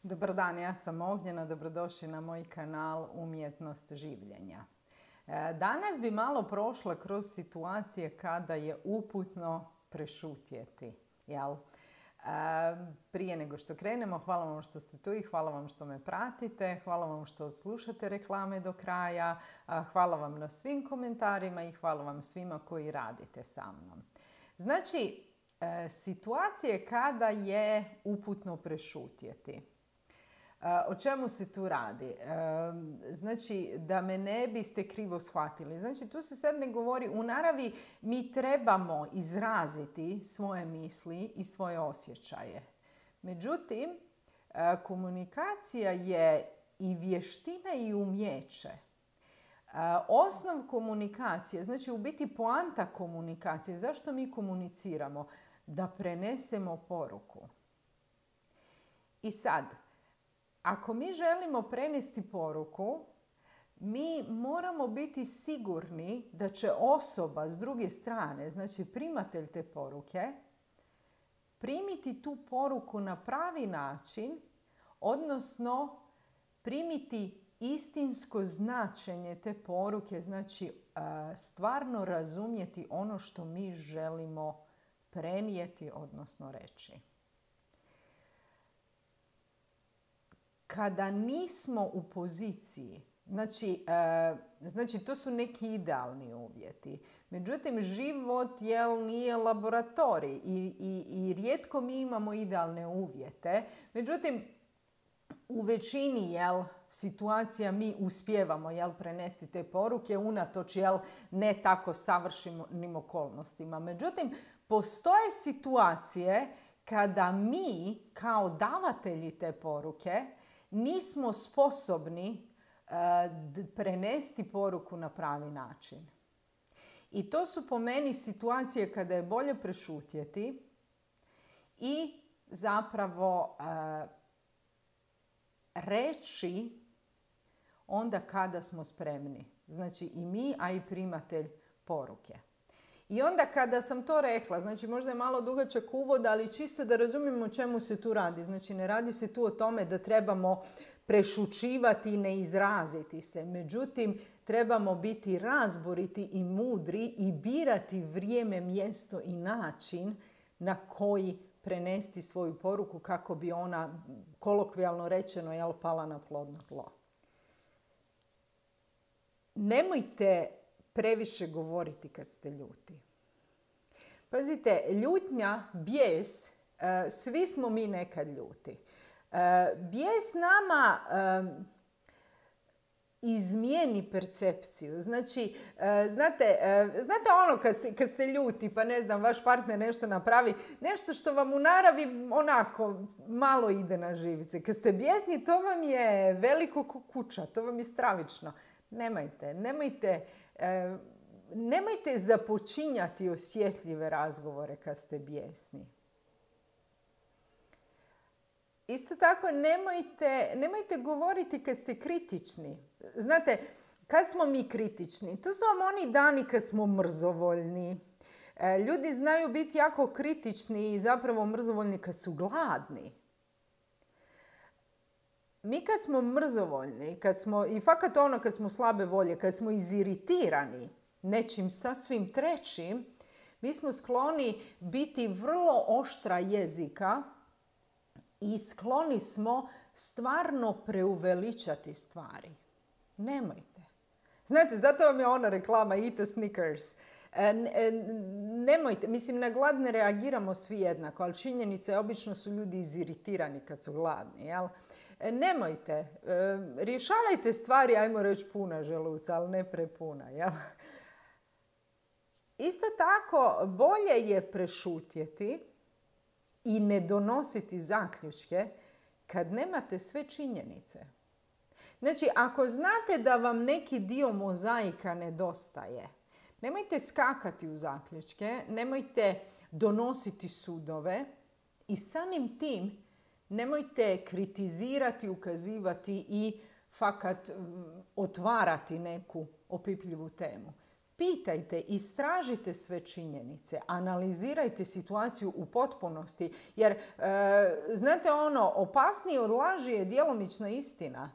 Dobar dan, ja sam Ognjena, dobrodošli na moj kanal Umjetnost življenja. Danas bi malo prošla kroz situacije kada je uputno prešutjeti. Jel? Prije nego što krenemo, hvala vam što ste tu i hvala vam što me pratite, hvala vam što slušate reklame do kraja, hvala vam na svim komentarima i hvala vam svima koji radite sa mnom. Znači, situacije kada je uputno prešutjeti. O čemu se tu radi? Znači, da me ne biste krivo shvatili. Znači, tu se sad ne govori, u naravi mi trebamo izraziti svoje misli i svoje osjećaje. Međutim, komunikacija je i vještina i umjeće. Osnov komunikacije, znači u biti poanta komunikacije, zašto mi komuniciramo? Da prenesemo poruku. I sad, ako mi želimo prenesti poruku, mi moramo biti sigurni da će osoba s druge strane, znači primatelj te poruke, primiti tu poruku na pravi način, odnosno primiti istinsko značenje te poruke, znači stvarno razumjeti ono što mi želimo prenijeti, odnosno reći. Kada nismo u poziciji, znači to su neki idealni uvjeti. Međutim, život nije laboratorij i rijetko mi imamo idealne uvjete. Međutim, u većini situacija mi uspijevamo prenesti te poruke unatoč ne tako savršenim okolnostima. Međutim, postoje situacije kada mi kao davatelji te poruke nismo sposobni prenesti poruku na pravi način. I to su po meni situacije kada je bolje prešutjeti i zapravo reći onda kada smo spremni. Znači i mi, a i primatelj poruke. I onda kada sam to rekla, znači možda je malo dugačak uvod, ali čisto da razumijemo o čemu se tu radi. Znači ne radi se tu o tome da trebamo prešućivati i ne izraziti se. Međutim, trebamo biti razboriti i mudri i birati vrijeme, mjesto i način na koji prenesti svoju poruku kako bi ona, kolokvijalno rečeno, pala na plodno tlo. Nemojte previše govoriti kad ste ljuti. Pazite, ljutnja, bijes, svi smo mi nekad ljuti. Bijes nama izmijeni percepciju. Znači, znate ono kad ste ljuti, pa ne znam, vaš partner nešto napravi, nešto što vam u naravi onako malo ide na živce. Kad ste bijesni, to vam je veliko ko kuća, to vam je stravično. Nemojte započinjati osjetljive razgovore kad ste bijesni. Isto tako, nemojte govoriti kad ste kritični. Znate, kad smo mi kritični, to su vam oni dani kad smo mrzovoljni. Ljudi znaju biti jako kritični i zapravo mrzovoljni kad su gladni. Mi kad smo mrzovoljni, kad smo slabe volje, kad smo iziritirani nečim sasvim trećim, mi smo skloni biti vrlo oštra jezika i skloni smo stvarno preuveličati stvari. Nemojte. Znate, zato vam je ona reklama Eat a Snickers. Nemojte, mislim, na glad ne reagiramo svi jednako, ali činjenica je, obično su ljudi iziritirani kad su gladni, jel? Nemojte, rješavajte stvari, ajmo reći, puna želuca, ali ne prepuna, jel? Isto tako, bolje je prešutjeti i ne donositi zaključke kad nemate sve činjenice. Znači, ako znate da vam neki dio mozaika nedostaje, nemojte skakati u zaključke, nemojte donositi sudove i samim tim nemojte kritizirati, ukazivati i fakat otvarati neku opipljivu temu. pitajte, istražite sve činjenice, analizirajte situaciju u potpunosti, jer znate opasnije od laži je djelomična istina.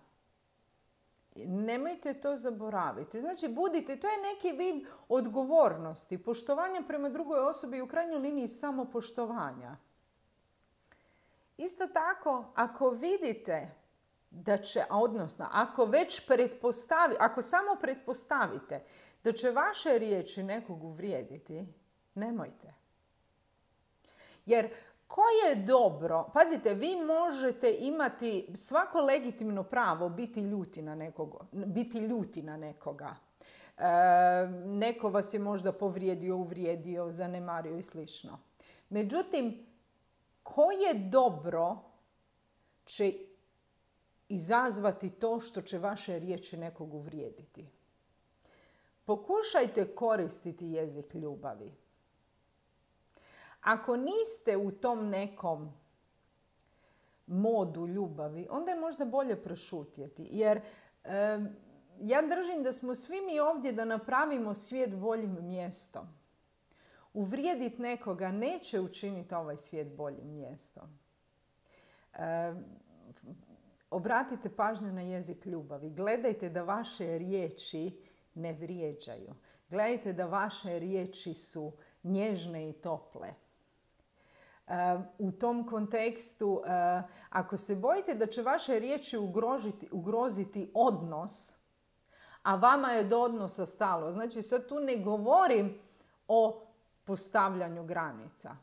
Nemojte to zaboraviti. Znači, budite, to je neki vid odgovornosti, poštovanja prema drugoj osobi i u krajnjoj liniji samopoštovanja. Isto tako, ako vidite da će, odnosno, ako samo pretpostavite da će vaše riječi nekog uvrijediti, nemojte. Jer koje dobro, pazite, vi možete imati svako legitimno pravo biti ljuti na nekoga. Neko vas je možda povrijedio, uvrijedio, zanemario i slično. Međutim, koje dobro će izazvati to što će vaše riječi nekog uvrijediti? Pokušajte koristiti jezik ljubavi. Ako niste u tom nekom modu ljubavi, onda je možda bolje prešutjeti. Jer ja držim da smo svi mi ovdje da napravimo svijet boljim mjestom. Uvrijediti nekoga neće učiniti ovaj svijet boljim mjestom. Obratite pažnju na jezik ljubavi. Gledajte da vaše riječi ne vrijeđaju. Gledajte da vaše riječi su nježne i tople. U tom kontekstu, ako se bojite da će vaše riječi ugroziti odnos, a vama je do odnosa stalo, znači sad tu ne govorim o postavljanju granica.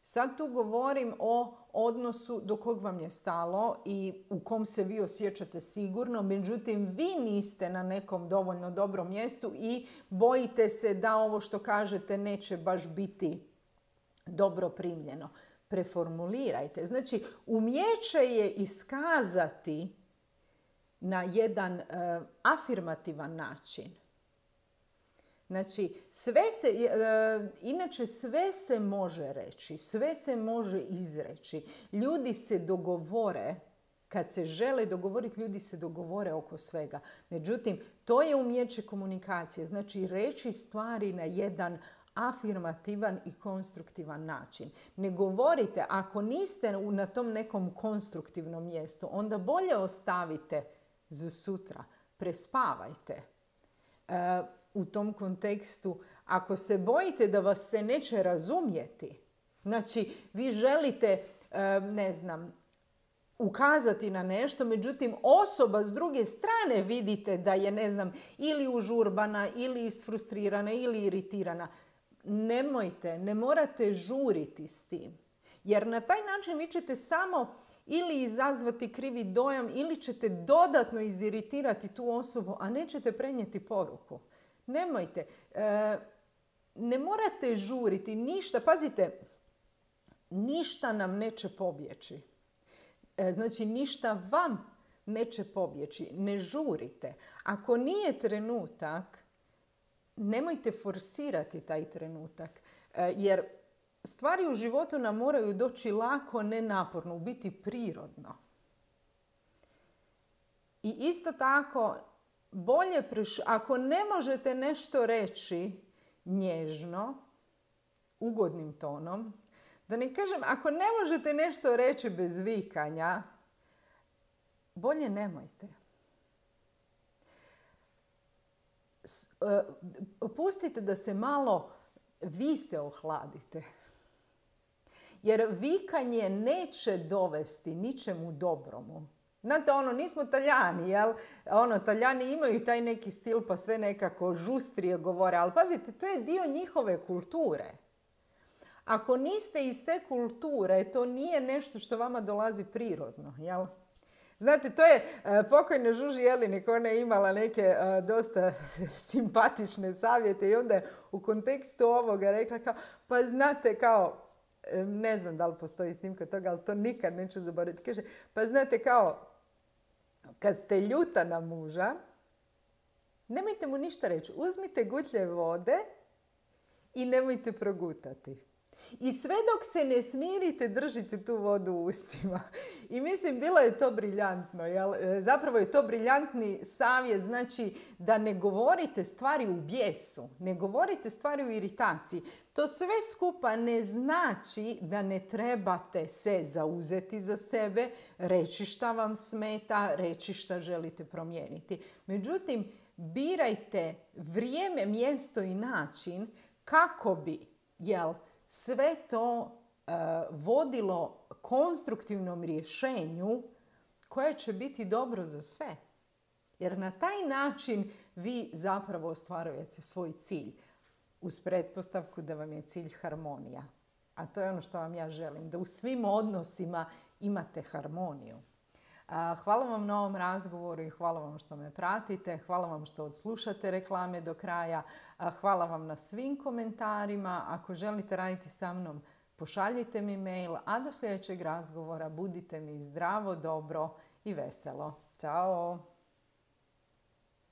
Sad tu govorim o odnosu do kog vam je stalo i u kom se vi osjećate sigurno, međutim vi niste na nekom dovoljno dobrom mjestu i bojite se da ovo što kažete neće baš biti dobro primljeno. Preformulirajte. Znači, umijeće je iskazati na jedan afirmativan način. Znači, inače sve se može reći, sve se može izreći. Ljudi se dogovore, kad se žele dogovoriti, ljudi se dogovore oko svega. Međutim, to je umijeće komunikacije. Znači, reći stvari na jedan afirmativan i konstruktivan način. Ne govorite, ako niste na tom nekom konstruktivnom mjestu, onda bolje ostavite za sutra. Prespavajte. U tom kontekstu, ako se bojite da vas se neće razumjeti, znači vi želite, ukazati na nešto, međutim osoba s druge strane vidite da je, ili užurbana, ili isfrustrirana, ili iritirana. Nemojte, ne morate žuriti s tim. Jer na taj način vi ćete samo ili izazvati krivi dojam, ili ćete dodatno iziritirati tu osobu, a nećete prenijeti poruku. Nemojte. Ne morate žuriti ništa. Pazite, ništa nam neće pobjeći. Znači, ništa vam neće pobjeći. Ne žurite. Ako nije trenutak, nemojte forsirati taj trenutak. Jer stvari u životu nam moraju doći lako, ne naporno, u biti prirodno. I isto tako, ako ne možete nešto reći nježno, ugodnim tonom, da ne kažem, ako ne možete nešto reći bez vikanja, bolje nemojte. Pustite da se malo vi se ohladite. Jer vikanje neće dovesti ničemu dobromu. Znate, nismo Talijani, jel? Talijani imaju taj neki stil pa sve nekako žustrije govore, ali pazite, to je dio njihove kulture. Ako niste iz te kulture, to nije nešto što vama dolazi prirodno, jel? Znate, to je pokojna Žuži Jelinek, ona je imala neke dosta simpatične savjete i onda je u kontekstu ovoga rekla kao, pa znate kao, ne znam da li postoji snimka toga, ali to nikad neću zaboraviti. Kaže, pa znate kao, kad ste ljuta na muža, nemojte mu ništa reći. Uzmite gutlje vode i nemojte progutati. I sve dok se ne smirite, držite tu vodu u ustima. I mislim, bilo je to briljantno. Jel? Zapravo je to briljantni savjet, znači da ne govorite stvari u bijesu, ne govorite stvari u iritaciji. To sve skupa ne znači da ne trebate se zauzeti za sebe, reći šta vam smeta, reći šta želite promijeniti. Međutim, birajte vrijeme, mjesto i način kako bi, sve to vodilo konstruktivnom rješenju koje će biti dobro za sve. Jer na taj način vi zapravo ostvarujete svoj cilj. Uz pretpostavku da vam je cilj harmonija. A to je ono što vam ja želim. Da u svim odnosima imate harmoniju. Hvala vam na ovom razgovoru i hvala vam što me pratite. Hvala vam što odslušate reklame do kraja. Hvala vam na svim komentarima. Ako želite raditi sa mnom, pošaljite mi mail. A do sljedećeg razgovora budite mi zdravo, dobro i veselo. Ćao!